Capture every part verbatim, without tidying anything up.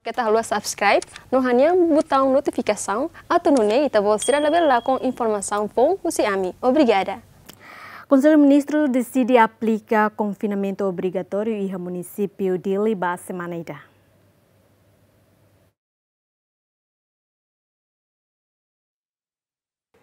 Keta haluha subscribe no hanehan butaun notifikasaun atu nune'e ita-boot sira labele lakon informasaun foun husi ami. Obrigada. Konsellu Ministru deside aplika konfinamentu obrigatóriu iha munisípiu Dili ba semana ida.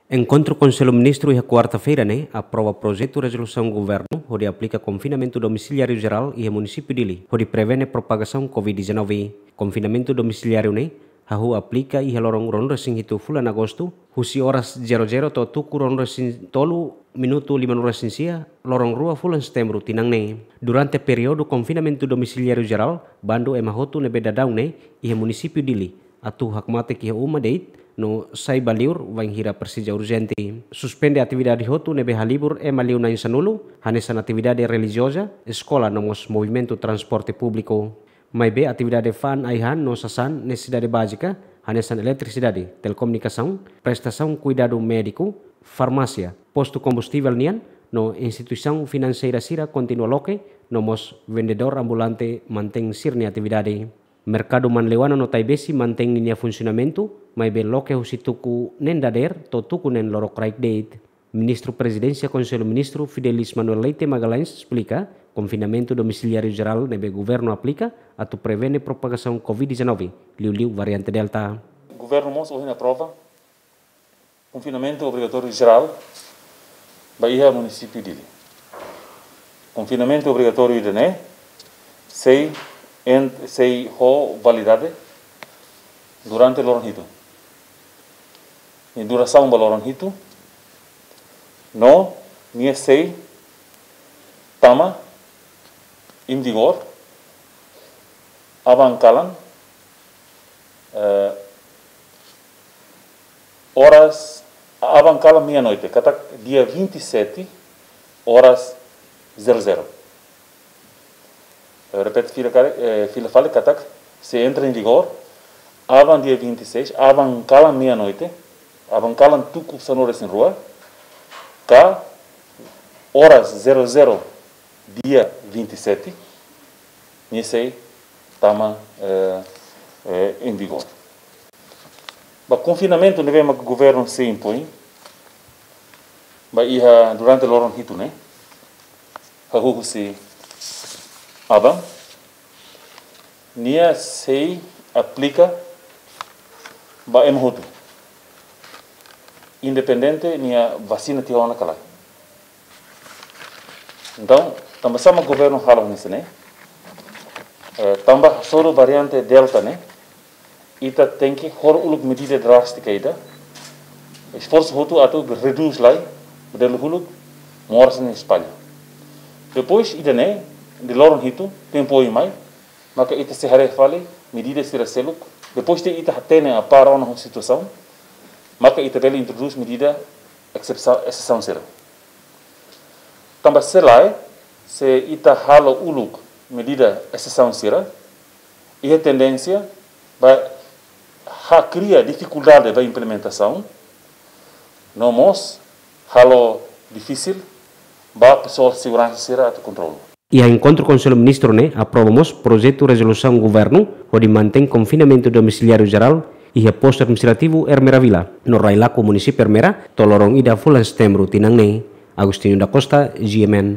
Enkontru Konsellu Ministru iha kuarta-feira ne'e aprova projetu rezolusaun governu hodi aplika konfinamentu domisiliáriu jerál iha munisípiu Dili, hodi prevene propagasaun covid dezanove. Konfinamentu domisiliáriu ne'e hahú aplika iha loron ruanulu-resin-hitu fulan Agostu, husi oras zero zero to'o tuku ruanulu-resin-tolu minutu limanulu-resin-sia, loron rua fulan Setembru tinan ne'e. Durante períodu konfinamentu domisiliáriu jerál, bandu ema hotu ne'ebé daudaun ne'e iha munisípiu Dili atu hakmatek iha uma de'it no sai ba liur wainhira presiza urjente. Suspende atividade hotu ne'ebé halibur ema liu na'in-sanulu, hanesan atividade relijioza, eskola no mós movimentu transporte públiku. Maibé atividade fa'an ai-han no sasán nesesidade bázika, hanesan eletrisidade, telekomunikasaun, prestasaun kuidadu médiku, farmásia, postu kombustivel nian, no instituisaun finanseira sira kontinua loke, no mós vendedór ambulante mantein sira-nia atividade. Merkadu Manleuana no Taibesi mantein ninia funsionamentu, maibé loke husi tuku neen dadeer to'o tuku neen lorokraik de'it. Ministru Prezidénsia Konsellu Ministru Fidelis Manuel Leite Magalhães esplika, konfinamentu domisiliáriu jerál ne'ebé governu aplika atu prevene propagasaun covid dezanove, liuliu variante Delta. Governu mós ohin aprova konfinamentu obrigatóriu jerál ba iha munisípiu Dili. Konfinamentu obrigatóriu ida-ne'e sei en-, sei ho validade durante loron hitu. Nia durasaun ba loron hitu, no nia sei tama em vigor aban-kalan, eh, oras, aban-kalan meia-noite, katak dia vinte e sete, oras zero zero. Eu repito fila kare-, eh, fila fali katak sei entra em vigor aban dia vinte e seis, aban-kalan meia-noite, aban-kalan tuku sanulu-resin-rua, ka oras zero zero dia vinte e sete, nia sei tama, eh, eh, em vigor. Ba konfinamentu ne'ebé mak governu sei impoin ba iha durante loron hitu ne'e, hahú husi aban, nia sei aplika ba ema hotu, independente nia vasina tiha ona ka lae. Entaun, tanba sá mak governu halo hanesan ne'e? Eh, tanba hasoru variante Delta ne'e, ita tenke hor uluk medida drástika ida, esforsu hotu atu redús lai, modelu uluk moras ne'e espalla. Depois ida-ne'e, de loron hitu, tempu oin mai, maka ita sei haree fali medida sira seluk. Depois de ita hatene a para ona situasaun, maka ita bele introdús medida eksepsa-, exesaun sira. Tanba se lae, se ita halo uluk medida exesaun sira, iha tendénsia ba ha kria difikuldade ba implementasaun, no mós halo difisil ba pesoál seguransa sira atu kontrolu. Iha enkontru Konsellu Ministru ne'e aprova mós projetu rezolusaun governu hodi mantein konfinamentu domisiliáriu jerál iha postu administrativu Ermera Vila, no Railaco, munisípiu Ermera, to'o loron ida fulan Setembru tinan ne'e. Agostinho da Costa, G M N.